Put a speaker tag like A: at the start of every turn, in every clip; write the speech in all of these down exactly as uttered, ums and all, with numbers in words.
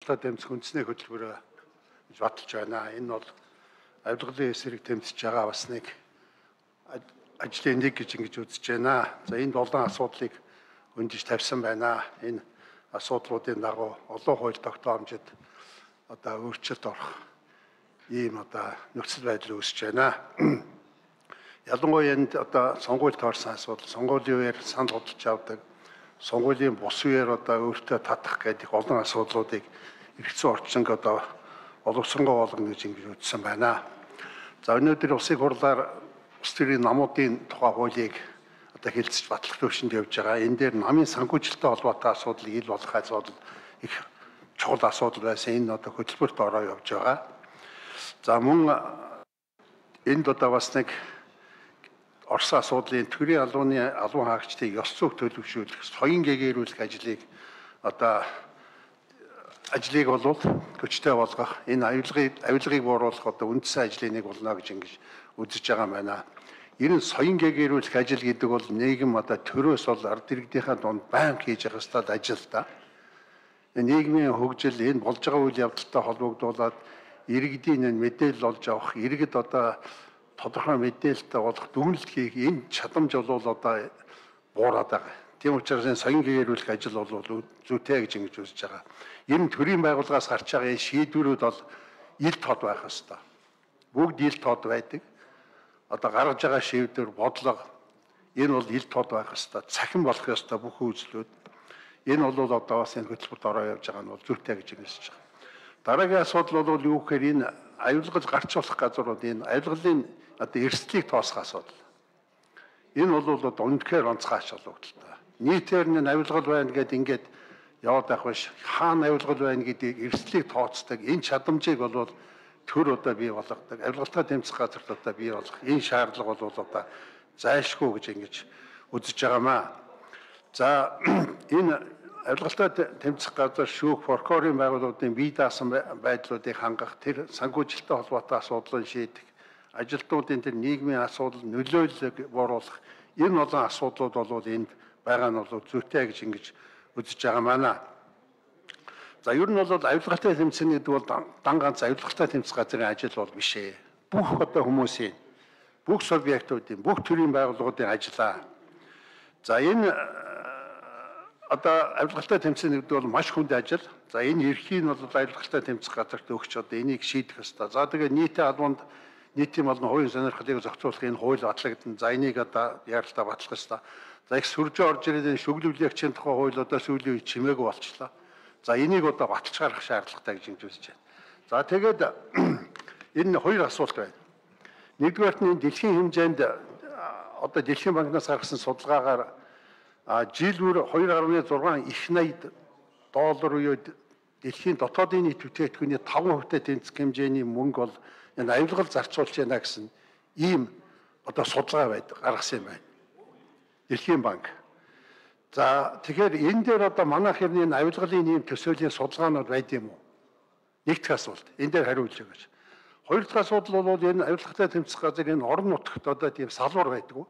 A: Тэмцэх үндэсний хөтөлбөрөөр гэж баталж байна. Энэ бол авилгалын эсрэг тэмцэж байгаа бас нэг ажлын нэг гэж ингэж үзэж байна. За энд олон асуудлыг хөндөж тавьсан байна. Энэ асуудлуудын дагуу олон хууль тогтоомжид одоо өөрчлөлт орох ийм одоо нөхцөл байдал үүсэж байна. Ялангуяа энд одоо сонгуульд орсон асуудал, сонгуулийн үеэр санд худалдаж авдаг, сонгуулийн бус үеэр одоо өөртөө татах гэдэг олон асуудлуудыг эргэцэн орчинг одоо боловсронгоо болгоно гэж ингэж үзсэн байна. За өнөөдөр улсын хурлаар улс төрийн намуудын тухай хуулийг одоо хэлэлцэж батлах төвшөнд явж байгаа. Энэ дээр намын санхүүжилттэй холбоотой асуудлыг ил болох асуудал их чухал асуудал байсан. Энэ одоо хөтөлбөрт ороо явж байгаа. За мөн энд одоо бас нэг Орос асуудлын төрийн албаны албан хаагчдыг ёс зүйг төлөвшүүлэх, соён гээгээрүүлэх ажлыг одоо ажлыг болвол хүчтэй болгох, энэ авилгыг авилгыг бууруулах одоо үндсэн ажлын нэг болно гэж ингэж үзэж байгаа юм байна. Ер нь соён гээгээрүүлэх ажил гэдэг бол нийгэм одоо төрөөс бол ард иргэдийнхээ дунд байнга хийж явах ёстой ажил та. Нийгмийн хөгжил энэ болж байгаа үйл явдалтай холбогдуулаад иргэдийн мэдээлэл олж авах, иргэд одоо тодорхой мэдээлэлтэй болох дүгнэлт хийх энэ чадамж бол одоо буураад байгаа. Тийм учраас энэ соён гээгээрүүлэх ажил бол зүйтэй гэж ингэж үзэж байгаа. Ер нь төрийн байгууллагаас гарч байгаа энэ шийдвэрүүд бол ил тод байх ёстой. Бүгд ил тод байдаг. Одоо гаргаж байгаа шийдвэр, бодлого энэ бол ил тод байх ёстой. Цахим болох ёстой бүх үйлслүүд. Энэ бол одоо бас энэ хөтөлбөрт ороо явж байгаа нь бол зүйтэй гэж хэлж байгаа. Дараагийн асуудал бол юу гэхээр энэ авилгал гарч болох газрууд энэ авилгалын одоо эрсдлийг тоосох асуудал. Энэ бол одоо үнэхээр онцгой ач холбогдолтой. Нийтээр нь авилгал байна гэдээ ингээд яваад байх биш. Хаана авилгал байна гэдгийг эрсдлийг тооцдог. Энэ чадамжийг бол төр одоо бий болгодог. Авилгалтай тэмцэх газарт одоо бий болгох. Энэ шаардлага бол одоо зайлшгүй гэж ингэж үзэж байгаамаа. За энэ авилгалтай тэмцэх газар шүүх прокурорын байгууллагын бие даасан байдлуудыг хангах, тэр санхүүжилттэй холбоотой асуудлыг шийдэх, ажилтнуудын тэр нийгмийн асуудал нөлөөллөг бууруулах энэ олон асуудлууд бол энд байгаа нь бол зүйтэй гэж ингэж үзэж байгаа маа. За ер нь бол авилгалтай тэмцэх гэдэг бол дан ганц авилгалтай тэмцэх газрын ажил бол биш ээ. Бүх одоо хүмүүсийн, бүх субъектуудын, бүх төрлийн байгууллагуудын ажиллаа. За энэ одоо авилгалтай тэмцэх гэдэг бол маш хүнд ажил. За энэ эрхийг нь бол авилгалтай тэмцэх газарт өгч одоо энийг шийдэх ёстой. За тэгээ нийтийн албанд нийтийн болон хувийн сонирхлыг зохицуулах энэ хууль батлагдана. За энийг одоо яаралтай батлах ёстой. За их сүржээ орж ирээд шүглүүлэгчийн тухай хууль одоо сүүлийн үед чимээгүй болчихлоо. За энийг одоо баталж гаргах шаардлагатай гэж ингэж үзэж байна. За тэгээд энэ хоёр асуулт байна. Нэгдүгээрт нь дэлхийн хэмжээнд одоо Дэлхийн банкнаас гаргасан судалгаагаар жил бүр хоёр гаруй зургаан их найд доллар буюу дэлхийн дотоодын нийт бүтээгдэхүүний таван хувьтай тэнцэх хэмжээний мөнгө бол энэ авилгал зарцуулж байна гэсэн ийм одоо судалгаа байдаг гаргасан юм байна. Дэлхийн банк. За тэгэхээр энэ дээр одоо манайх хэрний авилгалын ийм төсөөлийн судалгаанууд байд юм уу? Нэг дахь асуулт. Энэ дээр хариулж өгөөч. Хоёр дахь асуудал бол энэ авилгалтай тэмцэх газар энэ орон нутагт одоо тийм салбар байдаг уу?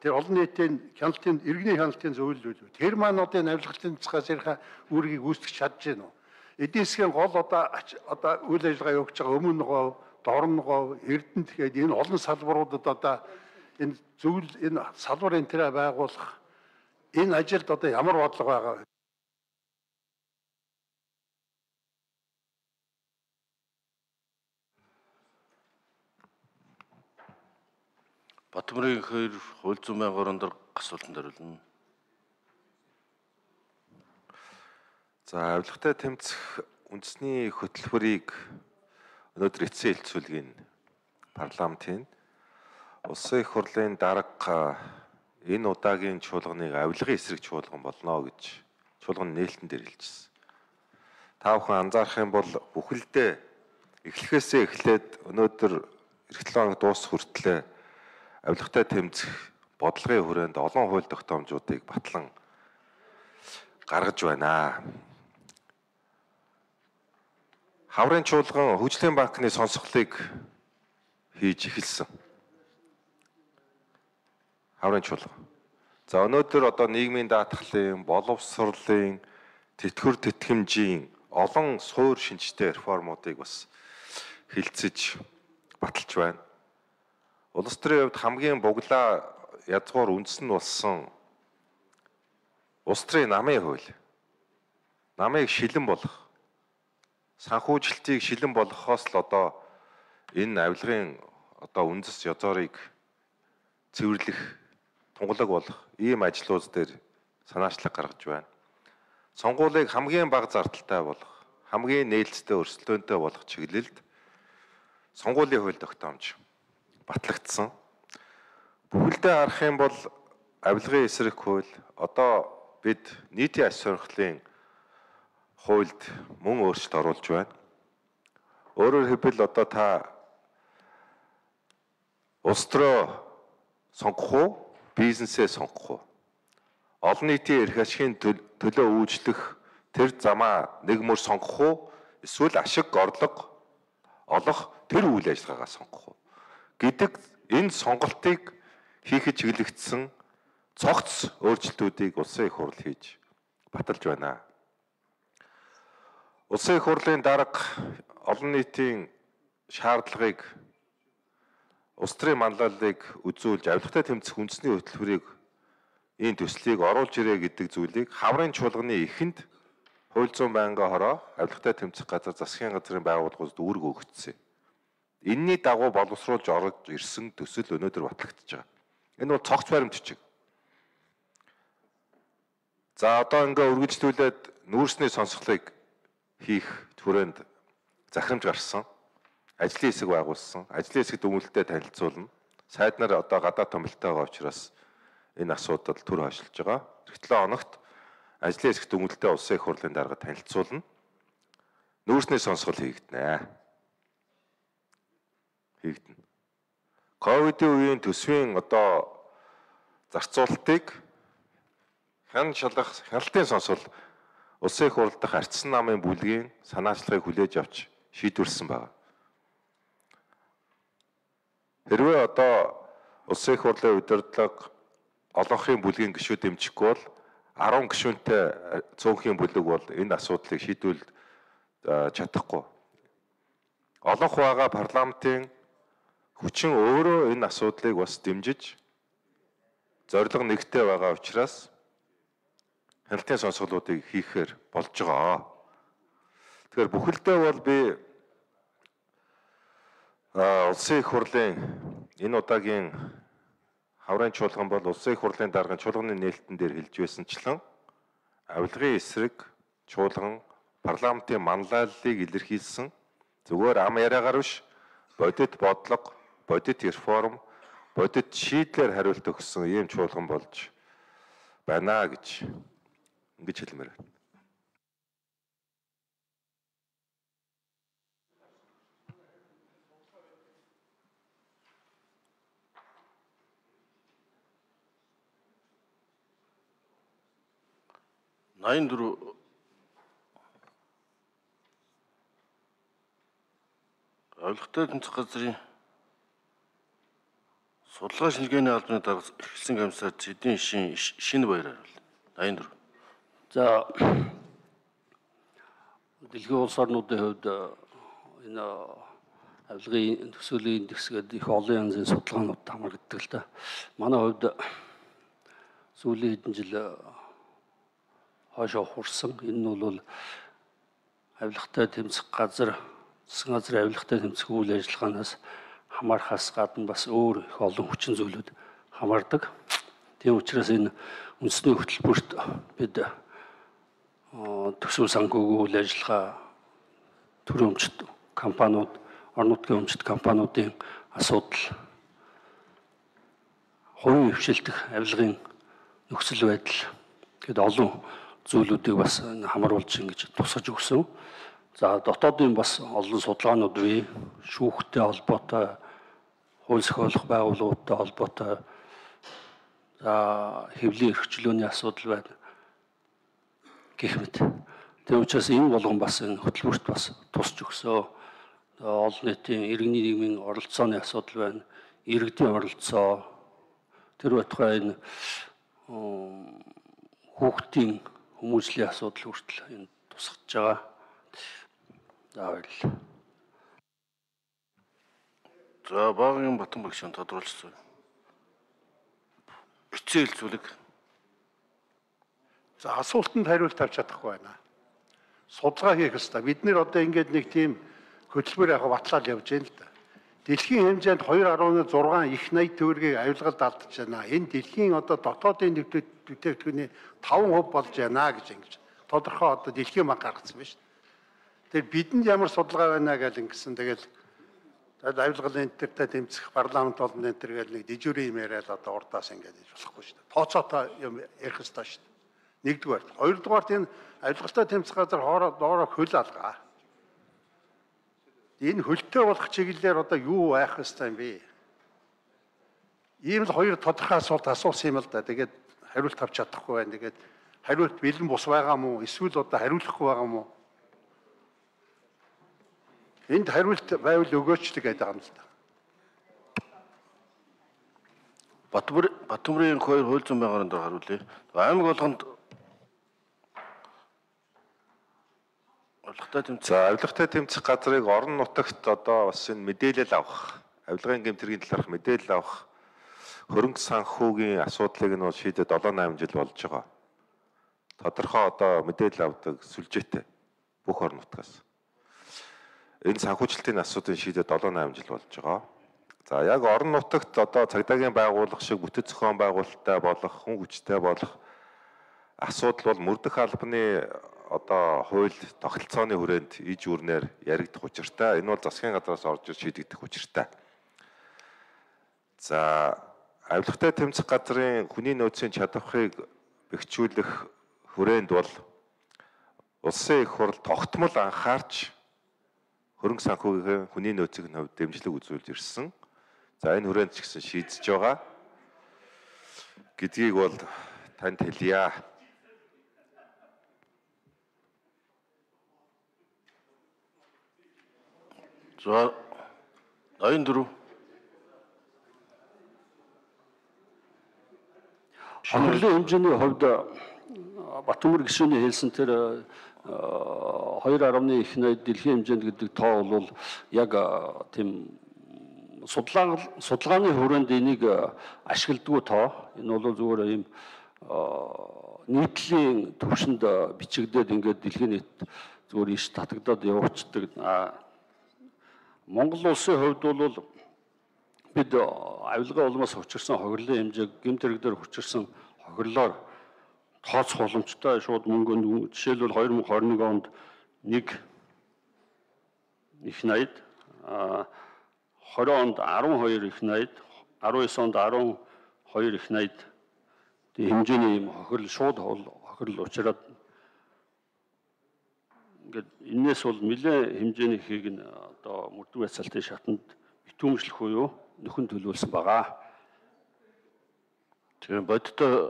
A: Тэр олон нийтийн хяналтын иргэний хяналтын зөвлөлүүд. Тэр маань одоо энэ авилгалын тэмцэх газрынхаа үүргийг гүйцэтгэж чадж гэнэ үү? Эдийн засгийн гол одоо одоо үйл ажиллагаа явуулж байгаа өмнө гов, дорн гов, Эрдэнэт тэгээд энэ олон салбаруудад одоо энэ зөвл энэ салбар энэ тэрэ байгуулах энэ ажилд одоо ямар бодлого байгаа вэ?
B: Батмрын хоёр хууль зүйн байнгын орон асуултанд хариулна.
C: За авилгатай тэмцэх үндэсний хөтөлбөрийг өнөөдөр эцсийн хэлцүүлгийн парламентын улсын их хурлын дарга энэ удаагийн чуулганыг авилгын эсрэг чуулган болно гэж чуулганы нээлтэн дээр хэлжсэн. Та бүхэн анзаарах юм бол бүхэлдээ эхлэхээсээ эхлээд өнөөдөр эх долоо хоног дуусах хүртлээр авилгатай тэмцэх бодлогын хүрээнд олон хууль тогтоомжуудыг батлан гаргаж байна. Хаврын чуулган хөгжлийн банкны сонсголыг хийж эхэлсэн. Хаврын чуулган. За өнөөдөр одоо нийгмийн даатгалын, боловсролын, тэтгэвэр тэтгэмжийн олон суур шинжтэй реформуудыг бас хилцэж баталж байна. Улс төрийн хувьд хамгийн буглаа язгуур үндэс нь болсон улс төрийн намын хууль. Намыг шилэн болгох, санхүүжилтийг шилэн болгохоос л одоо энэ авилгын одоо үндэс язуурыг цэвэрлэх, тунгалаг болох ийм ажлууд дээр санаачлаг гаргаж байна. Сонгуулийг хамгийн бага зардалтай болгох, хамгийн нээлттэй өрсөлдөөнтэй болгох чиглэлд сонгуулийн хууль тогтоомж батлагдсан. Бүхэлдээ харах юм бол авилгын эсрэг хууль одоо бид нийтийн аж сонирхлын хуульд мөн өөрчлөлт оруулж байна. Өөрөөр хэлбэл одоо та улс төрөө сонгох уу, бизнесээ сонгох уу? Олон нийтийн эрх ашигын төлөө үйлчлэх тэр замаа нэг мөр сонгох уу, эсвэл ашиг орлого олох тэр үйл ажиллагаагаа сонгох уу гэдэг энэ сонголтыг хийхэд чиглэгдсэн цогц өөрчлөлтүүдийг улсын их хурл хийж баталж байна. Улсын их хурлын дарга олон нийтийн шаардлагыг, улс төрийн манлайлалыг үзүүлж авилгатай тэмцэх үндэсний хөтөлбөрийг энэ төслийг оруулж ирээ гэдэг зүйлийг хаврын чуулганы эхэнд хууль зүйн байнгын хороо авилгатай тэмцэх газар засгийн газрын байгууллагууд үүрэг өгөгдсөн. Энийний дагуу боловсруулж орж ирсэн төсөл өнөөдөр батлагдж байгаа. Энэ бол цогц баримт бичиг. За одоо ингээ үргэлжлүүлээд нүүрсний сонсголыг хийх түрээнд захирамж гарсан. Ажлын хэсэг байгуулсан. Ажлын хэсэгт өгүүлэлтэд танилцуулна. Сайд нар одоо гадаад томилтойгоо учраас энэ асуудал түр хойшилж байгаа. Тэгтлээ хоногт ажлын хэсэгт өгүүлэлтээ улсын их хурлын дарга танилцуулна. Нүүрсний сонсгол хийгдэнэ. Хийгдэнэ. Ковидын үеийн төсвийн одоо зарцуулалтыг хэн шалгах хяналтын сонсгол улсын их хурл дахь ардсан намын бүлгийн санаачлагыг хүлээж авч шийдвэрлсэн байна. Хэрвээ одоо улсын их хурлын удирдлага олонхын бүлгийн гишүүд дэмжихгүй бол арван гишүүнтэй цөөнхийн бүлэг бол энэ асуудлыг шийдвэрлэж чадахгүй. Олонх байгаа парламентын хүчин өөрөө энэ асуудлыг бас дэмжиж зорилго нэгтэй байгаа учраас хяналтын сонсголуудыг хийхээр болж байгаа. Тэгэхээр бүхэлдээ бол би улсын их хурлын энэ удаагийн хаврын чуулган бол улсын их хурлын даргын чуулганы нээлтэн дээр хэлж байсанчлан авилгын эсрэг чуулган парламентын манлайллыг илэрхийлсэн зүгээр ам яриагаар биш бодит бодлого, бодит реформ, бодит шийдлэр хариулт өгсөн ийм чуулган болж байна гэж ингэж хэлмээр байна.
B: найман дөрөв авилгатай тэмцэх газрын судалгаа шинжилгээний албаны дарга эхэлсэн комиссар Эдийн шин шинэ баяр хариулна. найман дөрөв.
D: За дэлхийн улс орнуудын хувьд энэ авилгын төсөөлийн индекс гэдэг их олон янзын судалгаанууд хамрагддаг л да. Манай хувьд сүүлийн хэдэн жил хойшоо хурсан. Энэ нь бол авилгатай тэмцэх газар, засгийн газрын авилгатай тэмцэх үйл ажиллагаанаас хамаархаас гадна бас өөр их олон хүчин зүйлүүд хамаардаг. Тийм учраас энэ үндэсний хөтөлбөрт бид төсөв санхүүгийн үйл ажиллагаа төрийн өмчт компаниуд, орон нутгийн өмчт компаниудын асуудал, хувийн хвшилтэх авилгын нөхцөл байдал гэдэг олон зүйлүүдийг бас хамруулж ингэж тусгаж өгсөн. За дотоодын бас олон судалгаанууд бий. Шүүхтэй холбоотой, хууль зохиолох байгууллагуудтай холбоотой, за хэвлийн эрхчлөөний асуудал байна гэх мэт. Тийм учраас энэ болгон бас энэ хөтөлбөрт бас тусч өгсөө. Олон нийтийн иргэний нийгмийн оролцооны асуудал байна. Иргэдийн оролцоо, тэр байтугай энэ хүүхдийн хүмүүжлийн асуудал хүртэл энэ тусгаж байгаа. За баярлалаа.
B: За Багийн Батан багш тодруулсан. Эцсийн хэлцүүлэг.
A: За асуултанд хариулт авч чадахгүй байна. Судалгаа хийх ёстой. Бид нэр одоо ингээд нэг тийм хөтөлбөр яг батлаад явж байна л да. Дэлхийн хэмжээнд two point six их найд төгрөгийг авилгалд алдаж байна. Энэ дэлхийн одоо дотоодын бүтээгдэхүүний five percent болж байна гэж ингэж тодорхой одоо дэлхийн банк гаргацсан байна шүү дээ. Тэгэхээр бидэнд ямар судалгаа байна гэж ингэсэн. Тэгэл авилгалын энтертэй тэмцэх парламент болон энтер гэж нэг дижүрийн юм яриад одоо урдаас ингэж хийж болохгүй шүү дээ. Тооцоотой юм ярих ёстой шүү дээ. Нэгдүгээр. Хоёрдугаар энэ авилгалтай тэмцэх газар хоороо доороо хөл алгаа. Энэ хөлтэй болох чиглэлээр одоо юу байх ёстой юм бэ? Ийм л хоёр тодорхой асуулт асуусан юм л да. Тэгээд хариулт авч чадахгүй байна. Тэгээд хариулт бэлэн бус байгаа мó? Эсвэл одоо хариулахгүй байгаа мó? Энд хариулт байвал өгөөч гэдэг байгаа юм л да.
B: Батбар Батбарын хоёр хууль зүйн байгууллагын дор хариулъя. Аймаг болгонд авилгатай тэмцэх.
C: За авилгатай тэмцэх газрыг орон нутагт одоо бас энэ мэдээлэл авах, авилгын гэмтрийн талаарх мэдээлэл авах хөрөнгө санхүүгийн асуудлыг нь шийдэд seven eight жил болж байгаа. Тодорхой одоо мэдээлэл авдаг сүлжээтэй бүх орон нутгаас. Энэ санхүүжилтийн асуудлыг шийдэд seven eight жил болж байгаа. За яг орон нутагт одоо цагдаагийн байгууллага шиг бүтэц зохион байгуулалттай болох, хүн хүчтэй болох асуудал бол мөрдөх албаны одоо хууль тогтолцооны хүрээнд иж үрнээр яригдах учиртай. Энэ бол засгийн газраас орж ир шийдэгдэх учиртай. За авилгатай тэмцэх газрын хүний нөөцийн чадварыг бэхжүүлэх хүрээнд бол улсын их хурл тогтмол анхаарч хөрөнгө санхүүгийн хүний нөөцийн хувьд дэмжлэг үзүүлж ирсэн. За энэ хүрээнд ч гэсэн шийдэж байгаа гэдгийг бол танд хэлье.
B: За ninety-four.
D: Хохирлын хэмжээний хувьд Батбар гишүүний хэлсэн тэр two point one их найд дэлхийн хэмжээнд гэдэг тоо бол яг тийм судалгаа судалгааны хүрээнд энийг ашигладгүй тоо. Энэ бол зүгээр ийм нийтлийн түвшинд бичигдээд ингээд дэлхийн нийт зүгээр иш татагдаад явуулцдаг. Монгол улсын хувьд бол бид авилгаа улмаас хүчирсэн хохирлын хэмжээг гэмт хэрэг дээр хүчирсэн хохирлоор тооцох боломжтой. Шууд мөнгө жишээлбэл twenty twenty-one онд нэг их найд, twenty онд twelve их найд, nineteen онд twelve их найд хэмжээний юм хохирол шууд хохирол учраас ингээд энэс бол нэлээд хэмжээний ихийг нь одоо мөрдөх байцаалтын шатанд битүүмжлэх буюу нөхөн төлөвлөсөн байгаа.
B: Тэгэхээр бодиттой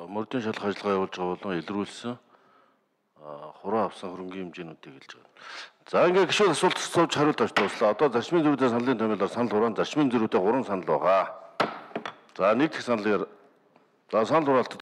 B: мөрдийн шалгах ажиллагаа явуулж байгаа болон илрүүлсэн хураа авсан хөрөнгөний хэмжээнүүдийг хэлж байгаа. За ингээд гişүүд асуулт асууж хариулт авч дуслаа. Одоо зарчмын зөрүүтэй саналын томьёолоор санал хураан зарчмын зөрүүтэй three санал байгаа. За нэг дэх санал за санал хураалт